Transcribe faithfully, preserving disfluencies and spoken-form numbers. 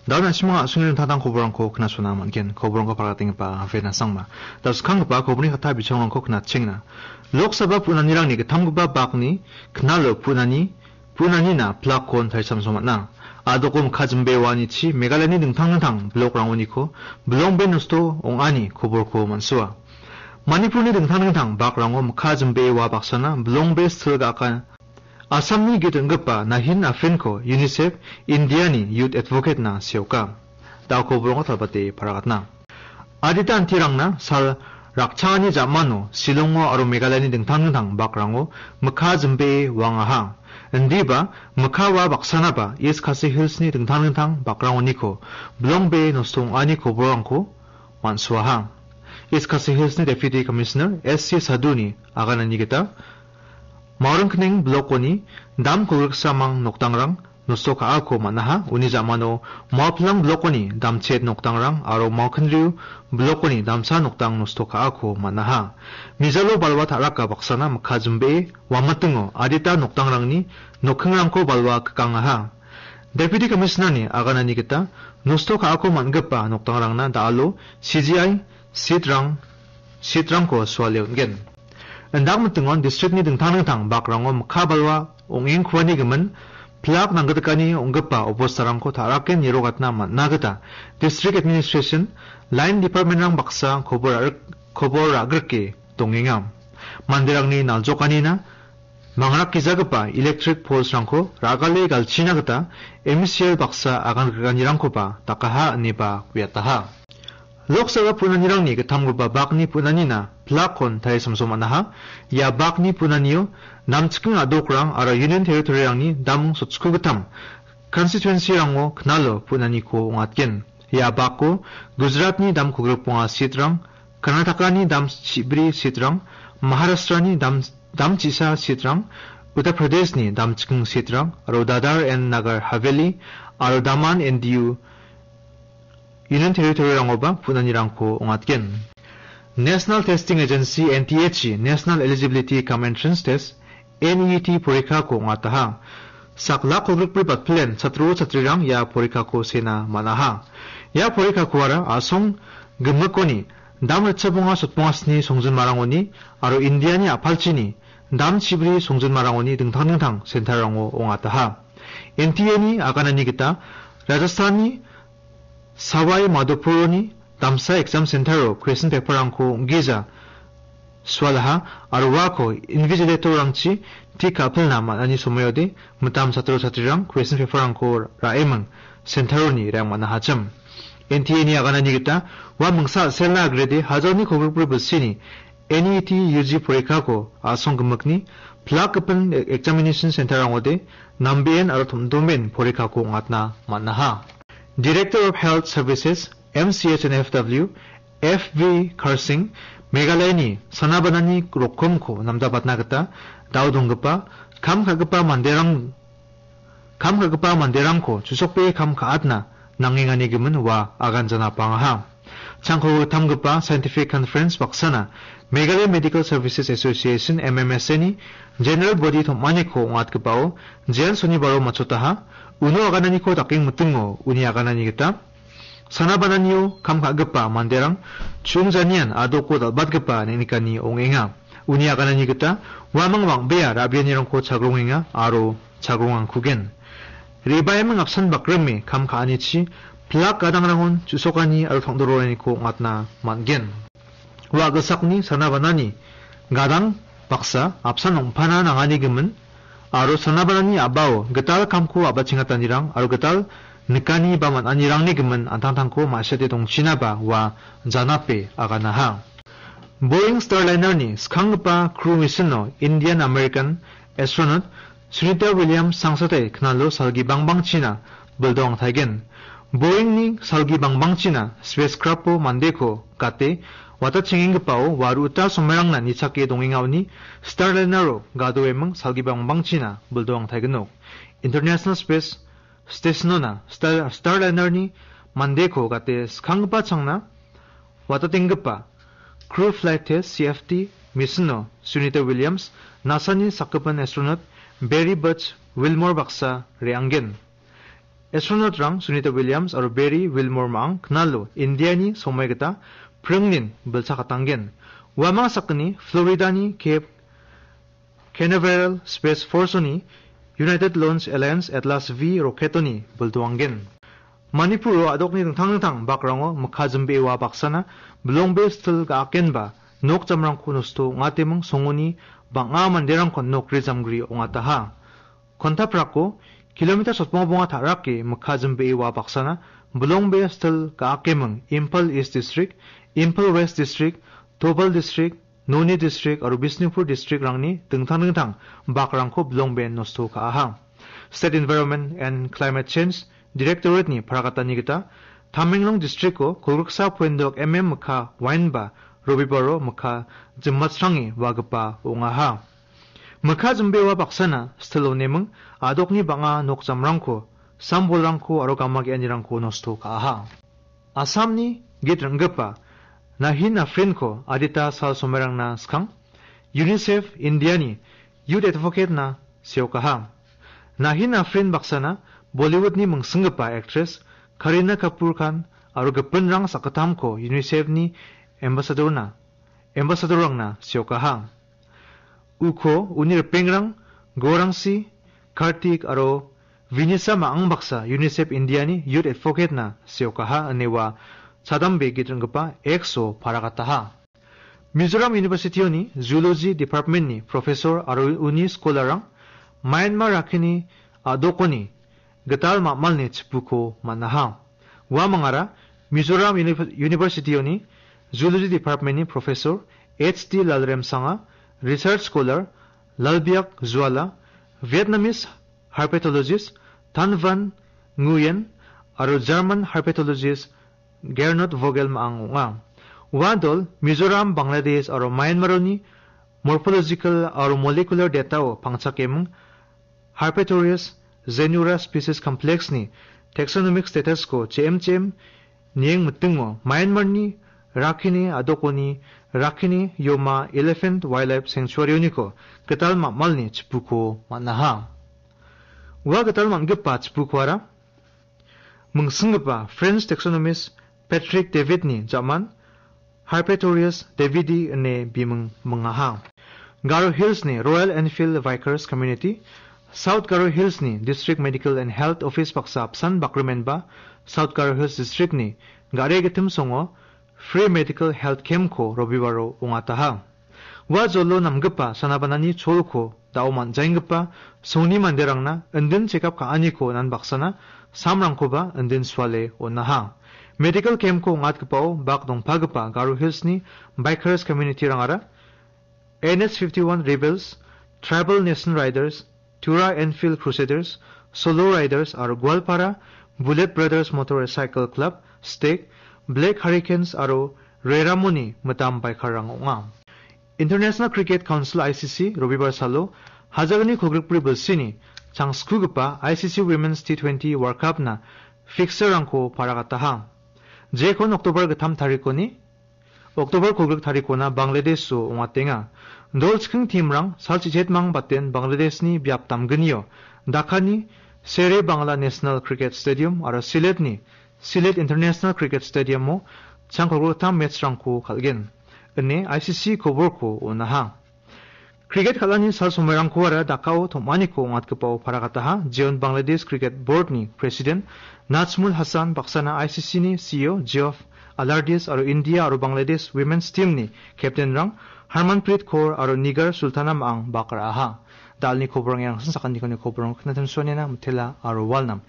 Dao na·simang a·songni ringtangtang koborangko knachona man·gen. Koborangko pagatenggipa Vena Sangma. Dao skanggipa koborni kata bichangrangko knatchengna. Lok Sabha pu·nanirangni gittamgipa bakni knalo pu·nani, pu·nanina plakkon tarisamso man·a. A·doko mikka jimbeoanichi Meghalayani dingtang dingtang bilokrangoniko bilongbe nosto ong·ani koborko man·sua. Manipurni dingtang dingtang bakrango mikka jimbee ua baksana bilongbe sil ga·aka. Assamni git ring·gipa Nahin Afrinko UNICEF Indiani Youth Advocate-na seoka. Dao koborangko talbate paragatna. Adita antirangna sal rakchangani jamano Shillongo aro Meghalayani dingtang dingtang bakrango mikka jimbee uangaha. Indiba mikka ua baksanaba East Khasi Hillsni dingtang dingtang bakrangoniko bilongbe nosto ong·ani koborangko man·suaha. East Khasi Hillsni Deputy Commissioner S C Sadhuni aganani gita Maoringkning blokoni dam kolgriksamang nokdangrang nosto ka·ako man·aha. Uni jamano Maoplang blokoni damchet nokdangrang aro Maokinriu blokoni damsa nokdang nosto ka·ako man·aha. Mijalo balwa ta·raka baksana mikka jimbee uamatingo adita nokdangrangni nokkingrangko balwa kikangaha. Deputy Commissioner-ni aganani gita nosto ka·ako man·gipa nokdangrangna da·alo C G I seat-rang, seat-rangko suale on·gen. Indakmitingon district-ni dingtang dingtang bakrango mikka balwa ong·engkuani gimin plak nanggitikani ong·gipa obostarangko ta·rake nirogatna man·a gita District Administration, Line Department-rang baksa kobor ra·rik-, kobor ra·grike dongenga. Manderangni naljokanina mangrakgijagipa electric poles-rangko ra·gale galchina gita M C L baksa agan grikanirangkoba dakaha ineba uiataha. Lok Sabha pu·nanirangni gittamgipa bakni pu·nanina plakkon tarisamso man·aha. Ia bakni pu·nanio namchiking a·dokrang aro Union Territory-rangni dam sotchiko gittam constituency-rango knalo pu·naniko ong·atgen. Ia bako Gujaratni dam kolgrikbonga seat-rang, Karnatakani dam chibri seat-rang, Maharashtrani dam, dam chisa seat-rang, Uttar Pradeshni dam chiking seat-rang, aro Dadar and Nagar Haveli, aro Daman and Diu Union Territory-rangoba pu·nanirangko ong·atgen. National Testing Agency, N T A-chi National Eligibility cum Entrance Test, N E E T porikako ong·ataha. Sak lak kolgrikbri batpilen chatro chatrirang ia porikako sena man·aha. Ia porikakoara a·song gimikoni dam ritchabonga sotbongasni songjinmarangoni aro Indiani a·palchini dam chibri songjinmarangoni dingtang dingtang center-rango ong·ataha. N T A-ni aganani gita Rajasthanni Sawai Madhopuroni damsa exam center-o question paper-rangko ong·gija sualaha aro uako invigilator-rangchi tik ka·pilna man·ani somoiode mitam chatro chatrirang question paper-rangko ra·eming center-oni reng man·ahachim. N T A-ni aganani gita ua mingsa a·selna agrede hajalni kolgrikbri bilsini N E E T U G porikako a·song gimikni plak gipin examination center-rangode nambeen aro tom·domen porikako ong·atna man·aha. Director of Health Services, M C H and F W, F V Karsing, Meghalayani sanabanani rokomko namdabatna gita dao donggipa kam ka·gipa manderang, kam ka·gipa manderangko chusokbe kam ka·atna nangengani gimin ua aganjana pangaha. Changko gittamgipa scientific conference baksana Meghalaya Medical Services Association, M M S A-ni General Body tom·aniko ong·atgipao jean sonibaro matchotaha. Uno agananiko dakeng mitingo uni aganani gita sanabananio kam ka·gipa manderang chungjanian a·doko dal·batgipa neng·nikani ong·enga. Uni aganani gita uamang bang·bea ra·bianirangko chagrongenga aro chagrongangkugen. Re·baeming apsan bakrime kam ka·anichi plak gadangrangon chusokani aro tangdoroaniko ong·atna man·gen. Ua gisakni sanabanani gadang baksa apsan ong·pana nangani gimin aro sanabanani a·bao gital kamko a·bachengatanirang aro gital nikani ba man·anirangni gimin an·tangtangko ma·sete dongchinaba ua janape aganaha. Boeing Starliner-ni skanggipa crew mission-o Indian American astronaut Sunita Williams sangsatai knalo salgi bangbangchina bildo angtaigen. Boeing-ni salgi bangbangchina spacecraft-o mandeko gate watachengenggipao waruta somerangna nichake dongengaoni Starliner-o gadoeming salgi bangbangchina bildo angtaigenok. International Space Station-ona Star-, Starliner-ni mandeko gate skanggipa changna watatenggipa Crew Flight Test, C F T, mission-o Sunita Williams, NASA-ni sakgipin astronaut Barry Butch Wilmore baksa re·angen. Astronaut-rang Sunita Williams aro Barry Wilmore ma·ang knalo Indiani somoi gita pringnin bilchakatanggen. Uamang sakgni Florida-ni Cape Canaveral Space Force-oni United Launch Alliance Atlas V rocket-oni bildoanggen. Manipuro a·dokni dingtang dingtang bakrango mikka jimbee ua baksana bilongbe stil ga·akenba nok jamrangko nosto ong·ateming songoni bang·a manderangkon nokri jamgri ong·ataha. Kontaprako kilometer sotbonga bonga ta·rake mikka jimbee ua baksana bilongbe stil ga·akeming Imphal East District, Imphal West District, Thoubal District, Noni District aro Bishnupur District-rangni dingtang dingtang bakrangko bilongben nosto ka·aha. State Environment and Climate Change Directorate-ni paragatani gita, Tamenglong District-o kolgriksa poindok M M mikka wainba Robibaro mikka jimmatsrange uagipa ong·aha. Mikka jimbewa baksana stil oneming a·dokni bang·a nok jamrangko, sambolrangko aro gama ge·anirangko nosto ka·aha. Assamni git ring·gipa Nahin Afrinko adita sal somairangna skang UNICEF Indiani Youth Advocate-na seokaha. Nahin Afrin baksana Bollywood-ni mingsinggipa actress Kareena Kapoor Khan aro gipinrang sakgittamko UNICEF-ni ambassador-na, ambassador-rangna seokaha. Uko uni ripengrang Gorangsi, Kartik aro Vinisa ma·ang baksa UNICEF Indiani Youth Advocate-na seokaha ine ua chadambe git ring·gipa X-o paragataha. Mizoram University-oni Zoology Department-ni professor aro uni scholar-rang Myanmar rakkini a·dokoni gital ma·malni chipuko man·aha. Uamangara Mizoram Uni-, University-oni Zoology Department-ni professor H T Lalremsanga, research scholar Lalbiak Zuala, Vietnamese herpetologist Tan Van Nguyen aro German herpetologist Gernot Vogel ma·ang ong·a. Ua dol Mizoram, Bangladesh aro Myanmar-oni morphological aro molecular data-o pangchakeming Herpetorius Zenura Species Complex-ni taxonomic status-ko J M J M nieng mitingo Myanmar-ni rakkini a·dokoni rakkini Yoma Elephant Wildlife Sanctuary-oniko gital ma·malni chipuko man·aha. Ua gital man·gipa chipukoara mingsinggipa French taxonomist Patrick David-ni ja·man Herpetorius davidi ine biming mingaha. Garo Hills-ni Royal Enfield Bikers Community, South Garo Hills-ni District Medical and Health Office baksa apsan bakrimenba South Garo Hills District-ni gare gitim songo free medical health camp-ko Robibaro ong·ataha. Ua jolo namgipa sanabanani cholko da·o man·jaenggipa songni manderangna indin chekap ka·aniko nan baksana samrangkoba indin suale on·aha. Medical camp-ko ong·atgipao bak dongpagipa Garo Hills-ni bikers community-rangara N S fifty-one Rebels, Tribal Nation Riders, Tura Enfield Crusaders, Solo Riders aro Goalpara Bullet Brothers Motorcycle Club, Stake, Black Hurricanes aro Reramoni mitam biker-rang ong·a. International Cricket Council, I C C, Robibar salo hajalni kolgrikbri bilsini changskugipa I C C Women's T twenty World Cup-na fixture-rangko paragataha. Jekon October gittam tarikoni October kolgrik tarikona Bangladesh-o ong·atenga. Dol chiking team-rang salchichetmang baten Bangladesh-ni biap damgnio Dhaka-ni Sere Bangla National Cricket Stadium aro Sylhet-ni Sylhet International Cricket Stadium-o chang kolgrik gittam match-rangko kal·gen, ine I C C koborko on·aha. Cricket kal·ani sal somoirangkoara Dhaka-o tom·aniko ong·atgipao paragataha, jeon Bangladesh Cricket Board-ni President Najmul Hassan baksana I C C-ni C E O Geoff Allardyce aro India aro Bangladesh Women's Team-ni captain-rang Harmanpreet Kaur aro Nigar Sultana ma·ang bak ra·aha. Dalni koborang iarangsan sakantikoni koborang knatim suanena mitela aro walnam.